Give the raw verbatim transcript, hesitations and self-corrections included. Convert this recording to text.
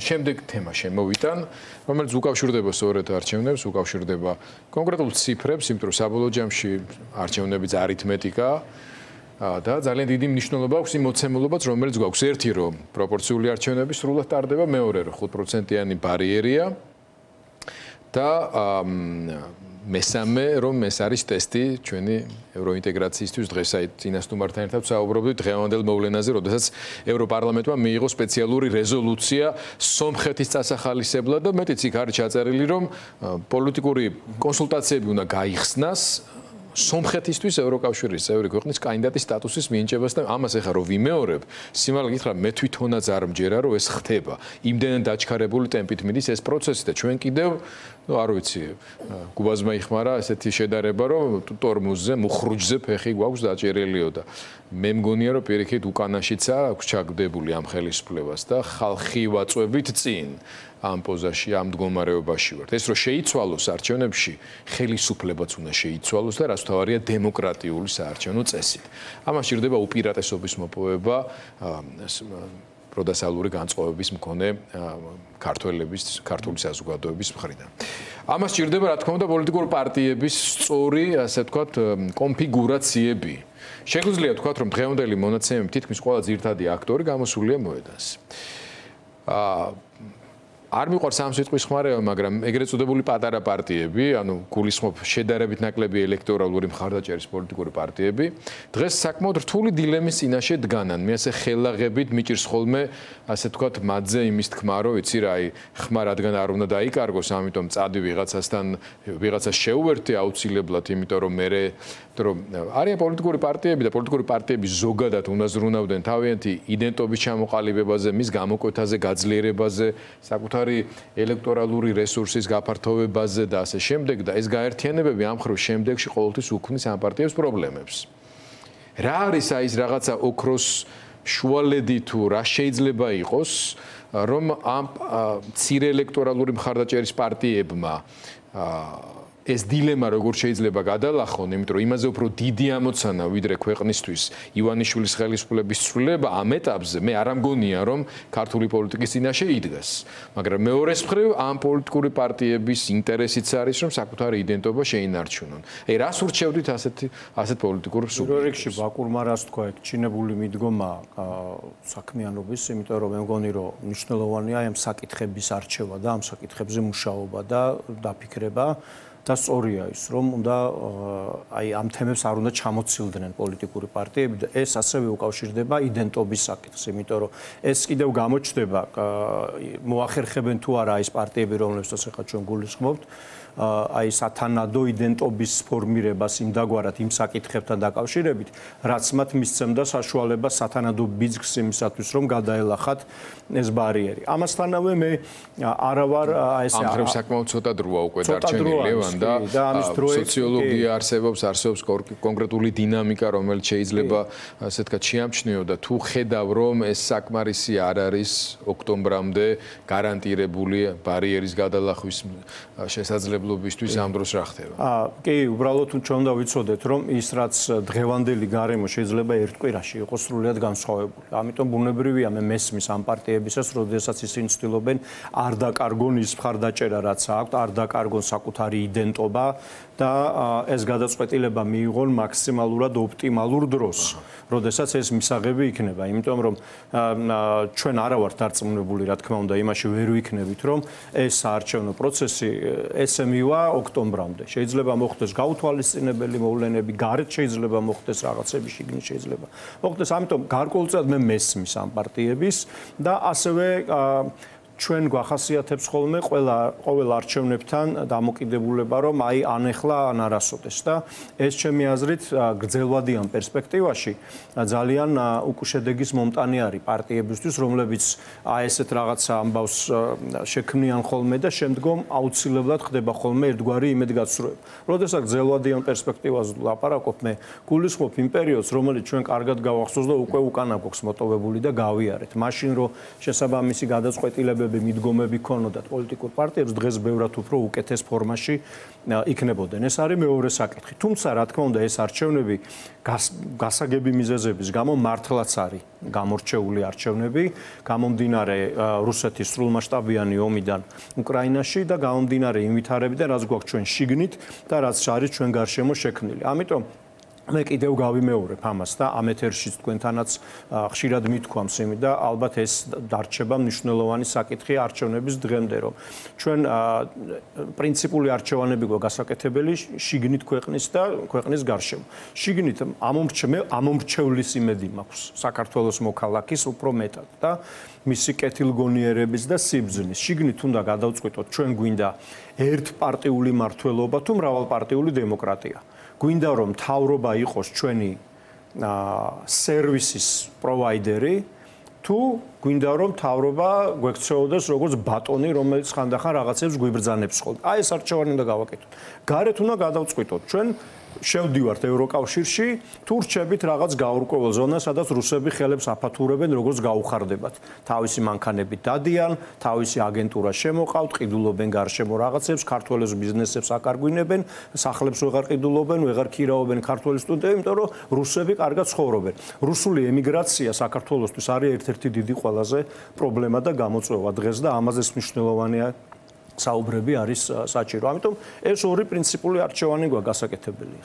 შემდეგ თემა შემოვიტან, რომელიც უკავშირდება სწორედ არჩევნებს, უკავშირდება კონკრეტულ ციფრებს, იმიტომ რომ საბოლოო ჯამში არჩევნებიც არითმეტიკა და ძალიან დიდი მნიშვნელობა აქვს იმ მოცემულობაც, რომელიც გვაქვს. ერთი რომ პროპორციული არჩევნები სრულად ტარდება, მეორე რომ ხუთ პროცენტიანი ბარიერია და მესამე რომ ეს არის ტესტი ჩვენი ევროინტეგრაციისთვის დღეს აი წინასწარმეტთან ერთად საუბრობდით დღევანდელ მოვლენაზე, როდესაც ევროპარლამენტმა მიიღო სპეციალური რეზოლუცია სომხეთის წასახალისებლად და მეტიც იქ არის ჩაწერილი რომ პოლიტიკური კონსულტაციები უნდა გაიხსნას სომხეთისთვის ევროკავშირის წევრი ქვეყნის კანდიდატის სტატუსის მინიჭებას და ამას ეხლა რო ვიმეორებ, სიმართლე გითხრა მე თვითონაც არ მჯერა რომ ეს ხდება. იმდენად დაჩქარებული ტემპით მიდის ეს პროცესი და ჩვენ კიდევ, ну, არ ვიცი, გუბაზმა იხმარა ესეთი შედარება რომ ტორმუზზე, მუხრუჯზე ფეხი გვაქვს დაჭერილიო და მე მგონია რომ პირიქით უკანაშიცა აქვს ჩაგდებული ამ ხელისუფლებას და ხალხი ვაწვევით წინ. ამ პოზაში, ამ მდგომარეობაში ვართ. ეს რომ შეიცვალოს არჩევნებში, ხელისუფლებაც უნდა შეიცვალოს და რაც თავარია დემოკრატიული საარჩევნო წესით. ამას სჭირდება უპირატესობის მოპოვება პროდასალური განწყობების მქონე ქართველების, ქართული საზოგადოების მხრიდან. ამას სჭირდება, რა თქმა უნდა, პოლიტიკური პარტიების სწორი, ასე ვთქვათ, კონფიგურაციები. შეგვიძლია ვთქვათ, რომ დღევანდელი მონაცემები თითქმის ყველა ძირითადი აქტორი გამოსულია მოედანზე. აა არ მიყვარს ამ სიტყვის ხმარება, მაგრამ ეგრეთ წოდებული პატარა პარტიები, ანუ გულისხმობ შედარებით ნაკლები ელექტორალური მხარდაჭერის პოლიტიკური პარტიები, დღეს საკმაოდ რთული დილემის წინაშე დგანან. მე ასე ხელაღებით მიჭირს ხოლმე, ასე ვთქვათ, მათზე იმის თქმა, რომ იცი რა, აი, ხმა რადგან არ უნდა დაიკარგოს, ამიტომ წადი ვიღაცასთან, ვიღაცას შეუერთე აუცილებლად, იმიტომ რომ მე რომ არიან პოლიტიკური პარტიები და პოლიტიკური პარტიები ზოგადად უნდა ზრუნავდნენ თავიანთი იდენტობის ჩამოყალიბებაზე, მის გამოკვეთაზე, გაძლიერებაზე, საკუთარი ელექტორალური რესურსის გაფართოვებაზე და ასე შემდეგ და ეს გაერთიანებები ამ ხრივ შემდეგში ყოველთვის უქმნის ამ პარტიებს პრობლემებს. რა არის აი ეს რაღაცა ოქროს შუალედი თუ რა შეიძლება იყოს, რომ ამ მცირე ელექტორალური მხარდაჭერის პარტიებმა ეს დილემა როგორ შეიძლება გადალახონ, იმიტომ რომ იმაზე უფრო დიდი ამოცანა ვიდრე ქვეყნისთვის ივანიშვილის ხელისუფლების ცვლილება ამ ეტაპზე მე არ ამგონია რომ ქართული პოლიტიკის წინაშე იდგას. მაგრამ მეორეს მხრივ ამ პოლიტიკური პარტიების ინტერესიც არის რომ საკუთარი იდენტობა შეინარჩუნონ. აი რას ურჩევდით ასეთ ასეთ პოლიტიკურ სუბიექტებს? რიგში ბაკურმა რას თქვა, ეგ ჩინებული მიდგომა საქმიანობის, იმიტომ რომ მე მგონი რომ მნიშვნელოვანია ამ საკითხების არჩევა და ამ საკითხებზე მუშაობა და დაფიქრება. და სწორია ის, რომ უნდა აი ამ თემებს არ უნდა ჩამოცილდნენ პოლიტიკური პარტიები და ეს ასევე უკავშირდება იდენტობის საკითხს, იმიტომ რომ ეს კიდევ გამოჩნდება, მოახერხებენ თუ არა ის პარტიები, რომლებსაც ახლა ჩვენ გულისხმობთ, აი სათანადო იდენტობის ფორმირებას იმდაგვარად იმ საკითხებთან დაკავშირებით, რაც მათ მისცემდა საშუალებას სათანადო ბიძგს იმისათვის, რომ გადაელახათ ეს ბარიერი. ამასთანავე მე არა ვარ აი ესე ამ ხრივ საკმაოდ ცოტა დროა უკვე დარჩენილი ლევან და სოციოლოგია არსებობს, არსებობს კონკრეტული დინამიკა, რომელიც შეიძლება ასე ვთქვათ შეამჩნიო და თუ ხედავ რომ ეს საკმარისი არ არის ოქტომბრამდე გარანტირებული ბარიერის გადალახვის შესაძლებლობისთვის ამ დროს რა ხდება? აა კი, უბრალოდ ჩვენ უნდა ვიცოდეთ, რომ ის რაც დღევანდელი გარემო შეიძლება ერთ კვირაში იყოს სრულიად განსხვავებული. ამიტომ ბუნებრივია მე მესმის ამ პარტიებისას, როდესაც ისინი ცდილობენ არ დაკარგონ ის მხარდაჭერა, რაც აქვთ, არ დაკარგონ საკუთარი იდენტობა და ეს გადაწყვეტილება მიიღონ მაქსიმალურად ოპტიმალურ დროს, როდესაც ეს მისაღები იქნება. იმიტომ რომ ჩვენ არა ვართ დარწმუნებული, რა თქმა უნდა, იმაში ვერ ვიქნებით, რომ ეს საარჩევნო პროცესი ესე მივა ოქტომბრამდე. შეიძლება მოხდეს გაუთვალისწინებელი მოვლენები, გარეთ შეიძლება მოხდეს რაღაცები, შიგნით შეიძლება მოხდეს. ამიტომ გარკვეულწილად მე მესმის ამ პარტიების და ასევე ჩვენ გვახასიათებს ხოლმე ყველა ყოველ არჩევნებთან დამოკიდებულება, რომ აი ანეხლა ან არასოდეს და ეს ჩემი აზრით გრძელვადიან პერსპექტივაში ძალიან უკუშედეგის მომტანი არის პარტიებისთვის, რომლებიც აი ესეთ რაღაცა ამბავს შექმნიან ხოლმე და შემდგომ აუცილებლად ხდება ხოლმე ერთგვარი იმედგაცრუება. როდესაც გრძელვადიან პერსპექტივაზე ლაპარაკობ, მე გულისხმობ იმ პერიოდს, რომელიც ჩვენ კარგად გავახსოვს და უკვე უკანა გვაქვს მოტოვებული და გავიარეთ. მაშინ რომ შესაბამისი გადაწყვეტილებები სურვილები, მიდგომები ქონოდათ პოლიტიკურ პარტიებს, დღეს ბევრად უფრო უკეთეს ფორმაში იქნებოდნენ. ეს არის მეორე საკითხი. თუმცა, რა თქმა უნდა, ეს არჩევნები გასაგები მიზეზების გამო მართლაც არის გამორჩეული არჩევნები, გამომდინარე რუსეთის სრულმასშტაბიანი ომიდან უკრაინაში და გამომდინარე იმ ვითარებიდან, რაც გვაქვს ჩვენ შიგნით და რაც არის ჩვენ გარშემო შექმნილი. ამიტომ მე კიდევ გავიმეორებ ამას და ამ ეთერშიც თქვენთანაც ხშირად მithქვამს იმი და ალბათ ეს დარჩება მნიშვნელოვანი საკითხი არჩევნების დღემდე, რომ ჩვენ პრინციპული არჩევანები გვაქვს გასაკეთებელი შიგნით ქვეყნის და ქვეყნის გარშემო. შიგნით ამომრჩევლის იმედი მაქვს საქართველოს მოქალაქის უფრო მეტად და მისი კეთილგონიერების და სიბრძნის. შიგნით უნდა გადავწყვიტოთ, ჩვენ გვინდა ერთპარტიული მმართველობა თუ მრავალპარტიული დემოკრატია. გვინდა რომ მთავრობა იყოს ჩვენი სერვისის პროვაიდერი თუ გვინდა რომ მთავრობა გვექცეოდეს როგორც ბატონი, რომელიც ხანდახან რაღაცებს გვიბრძანებს ხოლმე. აი ეს არჩევანი უნდა გავაკეთოთ. გარეთ უნდა გადავწყვიტოთ, ჩვენ შევდივართ ევროკავშირში თუ რჩებით რაღაც გაურკვეველ ზონას, სადაც რუსები ხელებს აფათურებენ, როგორც გაუხარდებათ. თავისი მანქანებით დადიან, თავისი აგენტურა შემოყავთ, ყიდულობენ გარშემო რაღაცებს, ქართველებს ბიზნესებს აკარგვინებენ, სახლებს ვეღარ ყიდულობენ, ვეღარ ქირაობენ ქართველ სტუდენტებს, იმიტომ რომ რუსები კარგად ცხოვრობენ. რუსული ემიგრაცია საქართველოსთვის არის ერთ-ერთი დიდი ყველაზე პრობლემა და გამოწვევა დღეს და ამაზეც მნიშვნელოვანია საუბრები არის საჭირო. ამიტომ ეს ორი პრინციპული არჩევანი გვაქვს გასაკეთებელი.